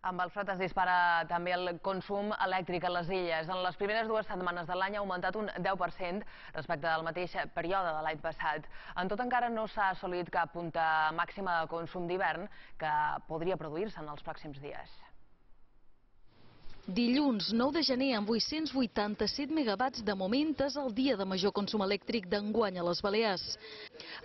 Amb el fred es dispara també el consum elèctric a les illes. En les primeres 2 setmanes de l'any ha augmentat un 10% respecte al mateix període de l'any passat. En tot encara no s'ha assolit cap punta màxima de consum d'hivern que podria produir-se en els pròxims dies. Dilluns 9 de gener amb 887 megawatts de moment és el dia de major consum elèctric d'enguany a les Balears.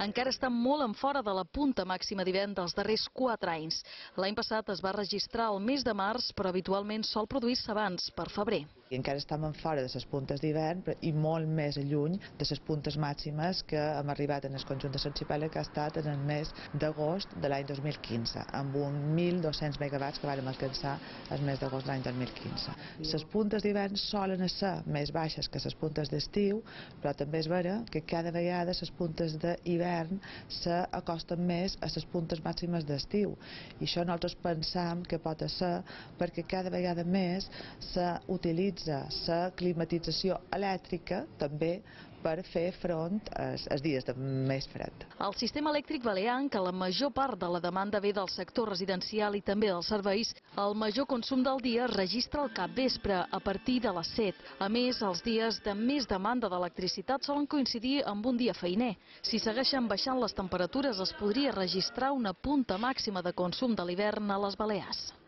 Encara està molt en fora de la punta màxima d'hivern dels darrers 4 anys. L'any passat es va registrar el mes de març, però habitualment sol produir-se abans, per febrer. I encara estem en fora de les puntes d'hivern i molt més lluny de les puntes màximes que hem arribat en el conjunt de l'arxipèlag, que ha estat en el mes d'agost de l'any 2015, amb un 1.200 megawatts que vàrem alcançar el mes d'agost de l'any 2015. Les puntes d'hivern solen ser més baixes que les puntes d'estiu, però també és vera que cada vegada les puntes d'hivern s'acosten més a les puntes màximes d'estiu. I això nosaltres pensam que pot ser perquè cada vegada més s'utilitza la climatització elèctrica també per fer front als dies de més fred. El sistema elèctric balear, en què la major part de la demanda ve del sector residencial i també dels serveis, el major consum del dia es registra al capvespre, a partir de les 7. A més, els dies de més demanda d'electricitat solen coincidir amb un dia feiner. Si segueixen baixant les temperatures, es podria registrar una punta màxima de consum de l'hivern a les Balears.